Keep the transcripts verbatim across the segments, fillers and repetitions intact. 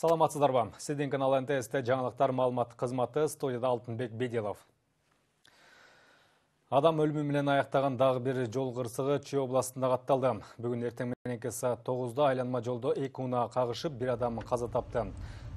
Саламатсыздарбы. Сиздин канал эн тэ эсте жаңылыктар маалымат кызматы, студияда Алтынбек Бедилов. Адам өлүмү менен аяктаган дагы бир жол кырсыгы Чүй областында катталды. Бүгүн эртең мененки саат тогузда айланма жолдо эки унаа кагышып, бир адам каза тапты.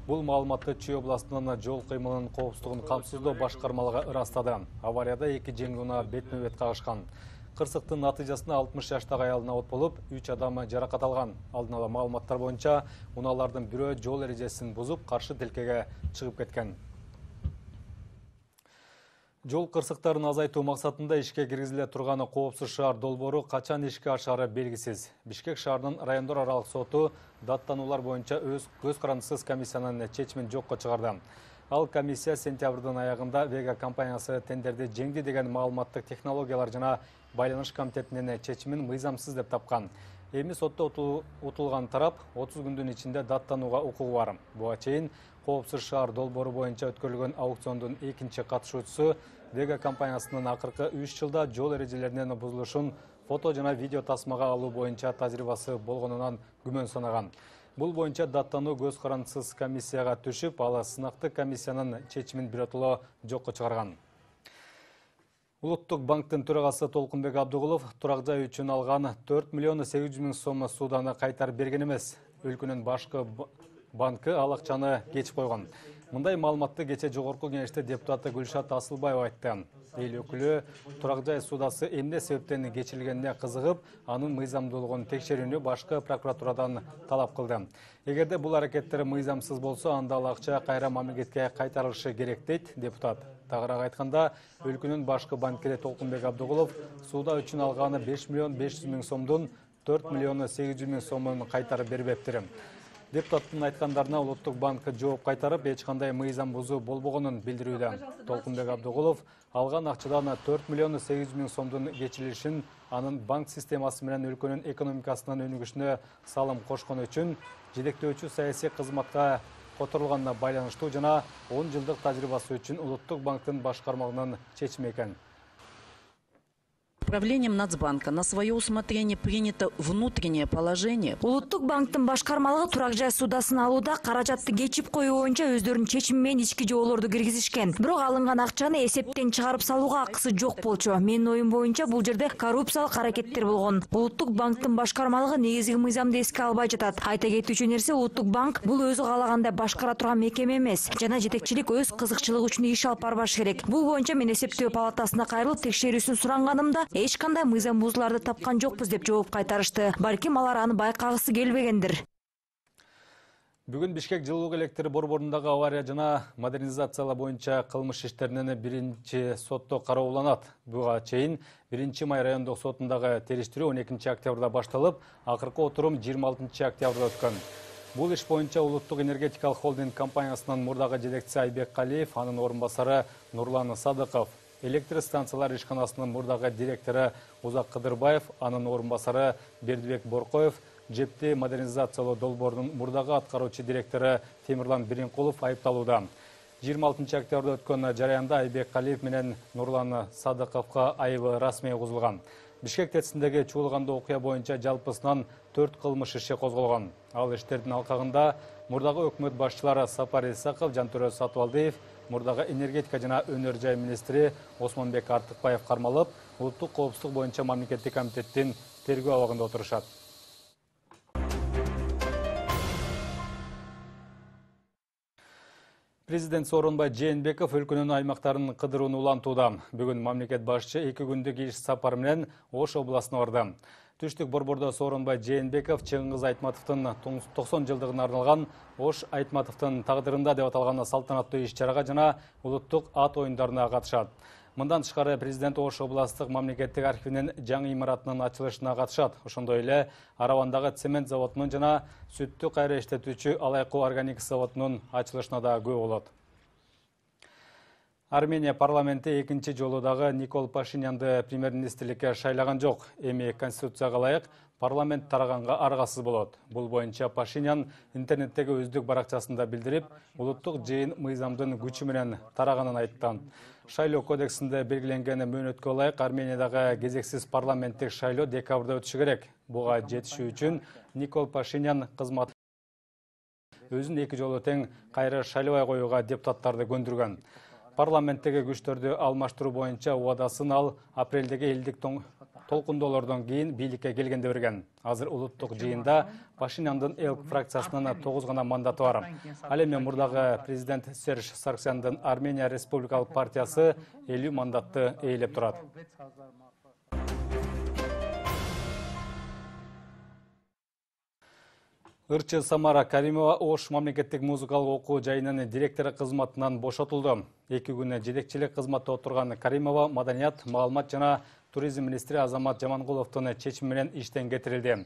Бул маалыматты Чүй областынын жол кыймылынын коопсуздугун камсыздоо башкармалыгы ырастады. Аварияда эки жеңил унаа бетме-бет кагышкан. Кырсыктын натыйжасында алтымыш жаштагы аялына от болуп, үч адам жаракат алган. Алдын ала маалыматтар боюнча, унаалардын бирөө жол эрежесин бузуп, каршы тилкеге чыгып кеткен. Жол кырсыктарын азайтуу максатында ишке киргизиле турган коопсуз шаар долбоору качан ишке ашары белгисиз. Бишкек шаарынын райондор аралык соту даттануулар боюнча өз көз карандысыз комиссиянын чечимин жокко чыгарды. Ал комиссия сентябрдын аягында Вега компаниясы тендерди жеңди деген маалыматтык технологиялар жана байланыш комитетинин чечимин мыйзамсыз деп тапкан. Эми сотто утулган тарап отуз күндүн ичинде даттанууга укугу бар. Буга чейин коопсуз шаар долбоору боюнча өткөрүлгөн аукциондун экинчи катышуучусу Вега компаниясынын акыркы үч жылда жол эрежелеринин бузулушун фото жана видео тасмага алуу боюнча тажрыйбасы болгонунан күмөн санаган. Бул боюнча даттануу көз карандысыз комиссияга түшүп, ал сынактык комиссиянын чечимин биротоло жокко чыгарган. Улуттук банктын төрагасы Толкунбек Абдыгулов турак жай үчүн алган төрт миллион сегиз жүз миң сом сууданы кайтарып берген эмес. Өлкөнүн башкы банкы ал акчаны кечип койгон. Мындай маалыматты кече жогорку кеңеште депутаты Гүлшат Асылбаева айтты. Эл өкүлү турак жай суудасы эмне себептен кечирилгенине кызыгып, анын мыйзамдуулугун текшерүүнү башкы прокуратурадан талап кылды. Эгерде бул аракеттер мыйзамсыз болсо, анда ал акча кайра мамлекетке кайтарылышы керек дейт депутат. Тагыраак айтканда, өлкөнүн башкы банкири Толкунбек Абдыгулов сууда үчүн алганы беш миллион беш жүз миң сомдун төрт миллион сегиз жүз миң сомун кайтарып бербептир. Депутаттын айткандарына Улуттук банк жооп кайтарып, эч кандай мыйзам бузуу болбогонун билдирүүдө. Толкунбек Абдыгулов алган акчадан төрт миллион сегиз жүз миң сомдун кечирилишин анын банк системасы менен өлкөнүн экономикасынын өнүгүшүнө салым кошкону үчүн жетектөөчү саясий кызматка которулганына байланыштуу жана он жылдык тажрыйбасы үчүн Улуттук банктын башкармалыгынын чечими экен. Правлением Нацбанка на свое усмотрение принято внутреннее положение. Улуттук банктын башкармалыгы турак жай суудасын алууда каражатты кечип коюу боюнча өздөрүнүн чечими менен ички жоолорду киргизишкен. Бирок алынган акчаны эсептен чыгарып салууга акысы жок болчу. Менин оюм боюнча бул жерде коррупциялык аракеттер болгон. Улуттук банктын башкармалыгы негизги мыйзамды эске албай жатат. Айта кетүүчү нерсе, Улуттук банк бул өзү каалагандай башкара турган мекеме эмес. Жана жетекчилик өз кызыкчылыгы үчүн иш алып барбаш керек. Бул боюнча мен эсептөө палатасына кайрылып текшерүүсүн суранганымда эч кандай мыйзам бузууларды тапкан жокпуз деп жооп кайтарышты. Балким алар аны байкагысы келбегендир. Бүгүн Бишкек жылуулук электр борборундагы авария жана модернизациялоо боюнча кылмыш иштеринин биринчи сотто карооланат. Буга чейин биринчи май райондук сотундагы териштирүү он экинчи октябрда башталып, акыркы отурум жыйырма алтынчы октябрда өткөн. Бул иш боюнча Улуттук энергетикалык холдинг компаниясынын мурдагы жетекчиси Айбек Калиев, анын орун басары Нурлан Садыков, электр станциялар ишканасынын мурдагы директору Узак Кыдырбаев, анын орун басары Бердибек Боркоев, жепти модернизациялоо долбоорунун мурдагы аткаруучу директору Темирлан Биринкулов айыпталууда. жыйырма алтынчы октябрда өткөн жараянда Айбек Калиев менен Нурлан Садыковго айыбы расмий козулган. Бишкек ТЭЦиндеги чуулгандуу окуя боюнча жалпысынан төрт кылмыш иши козголгон. Ал иштердин алкагында мурдагы өкмөт башчылары Сапар Исаков, Жантөрө Сатыбалдиев, мурдагы энергетика жана өнөр жай министри Осмонбек Артыкбаев кармалып, улуттук коопсуздук боюнча мамлекеттик комитеттин тергөө абагында отурушат. Президент Сооронбай Жээнбеков өлкөнүн аймактарын кыдырууну улантууда. Бүгүн мамлекет башчы эки күндүк иш сапары менен Ош областына барды. Түштүк борбордо Сооронбай Жээнбеков Чыңгыз Айтматовдун токсон жылдыгына арналган Ош Айтматовдун тагдырында деп аталган салтанаттуу иш-чарага жана улуттук ат оюндарына катышат. Мындан тышкары президент Ош областтык мамлекеттик архивинин жаңы имаратынын ачылышына катышат. Ошондой эле Аравандагы цемент заводунун жана сүттү кайра иштетүүчү Алайкуу органик заводунун ачылышына да күбө болот. Армения парламенти экинчи жолу дагы Никол Пашинянды премьер-министрликке шайлаган жок. Эми конституцияга ылайык парламент тараганга аргасыз болот. Бул боюнча Пашинян интернеттеги өздүк баракчасында билдирип, улуттук жыйын мыйзамдын күчү менен тараганын айтты. Шайлоо кодексинде белгиленген мөөнөткө ылайык Армениядагы кезексиз парламенттик шайлоо декабрда өтүшү керек. Буга жетишүү үчүн Никол Пашинян кызмат өзүн эки жолу тең кайра шайлабай коюуга депутаттарды көндүргөн. Парламенттеги күчтөрдү алмаштыруу боюнча убадасын ал апрелдеги элдик толкундоолордон кийин бийликке келгенде берген. Азыр улуттук жыйында Пашиняндын эл фракциясынын тогуз гана мандаты бар. Ал эми мурдагы президент Серж Сарксяндын Армения Республикалык партиясы элүү мандатты ээлеп турат. Ырчы Самара Каримова Ош мамлекеттик музыкалык окуу жайынын директору кызматынан бошотулду. Эки күнү жетекчилик кызматта отурган Каримова маданият, маалымат жана туризм министри Азамат Жамангуловдун чечими менен иштен кетирилди.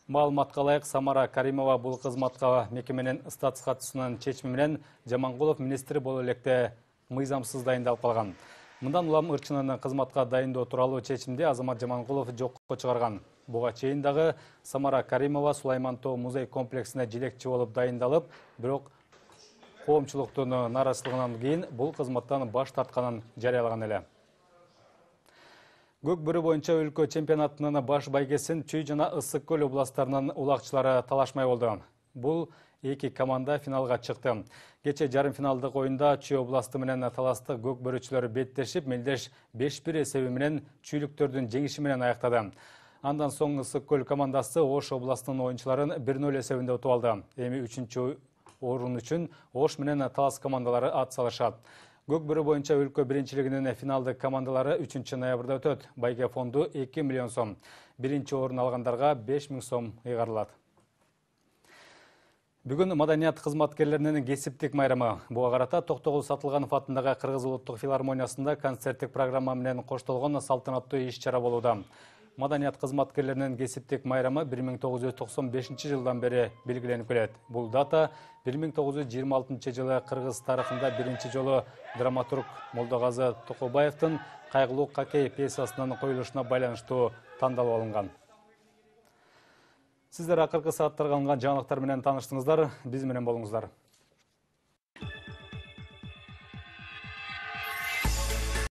Маалыматка ылайык, Самара Каримова бул кызматка мекеменин статус катчысынын чечими менен Жамангулов министри боло электе мыйзамсыз дайындалып калган. Мындан улам ырчынын кызматка дайындоо тууралуу чечимди Азамат Жамангулов жокко чыгарган. Буга чейин дагы Самара Каримова Сулайман Тоо музей комплексине жетекчи болуп дайындалып, бирок коомчулуктун нааразычылыгынан кийин бул кызматтан баш тартканын жарыялаган эле. Көк бөрү боюнча өлкө чемпионатынын баш байгесин Чүй жана Ысык көл областарынын улакчылары талашмай болду. Бул эки команда финалга чыкты. Кече жарым финалдык оюнда Чүй областы менен таластык көк бөрүчүлөр беттешип, мелдеш беш бир эсеби менен чүйлүктөрдүн жеңиши менен аяктады. Андан соң Ысык көл командасы Ош областынын оюнчуларын бир ноль эсебинде утуп алды. Эми үчүнчү орун үчүн Ош менен Талас командалары ат салышат. Көк бөрү боюнча өлкө биринчилигинин финалдык командалары үчүнчү ноябрда өтөт. Байге фонду эки миллион сом. Биринчи орун алгандарга беш миң сом ыйгарылат. Бүгүн маданият кызматкерлеринин кесиптик майрамы. Буга карата Токтогул Сатылганов атындагы Кыргыз улуттук филармониясында концерттик программа менен коштолгон салтанаттуу иш-чара болууда. Маданият кызматкерлеринин кесиптик майрамы бир миң тогуз жүз токсон бешинчи жылдан бери белгиленип келет. Бул дата бир миң тогуз жүз жыйырма алтынчы жылы Кыргыз тарыхында биринчи жолу драматург Молдогазы Токобаевдин Кайгылуу Какей пьесасынын коюлушуна байланыштуу тандалып алынган. Сиздер акыркы сааттарга алынган жаңылыктар менен тааныштыңыздар. Биз менен болуңуздар.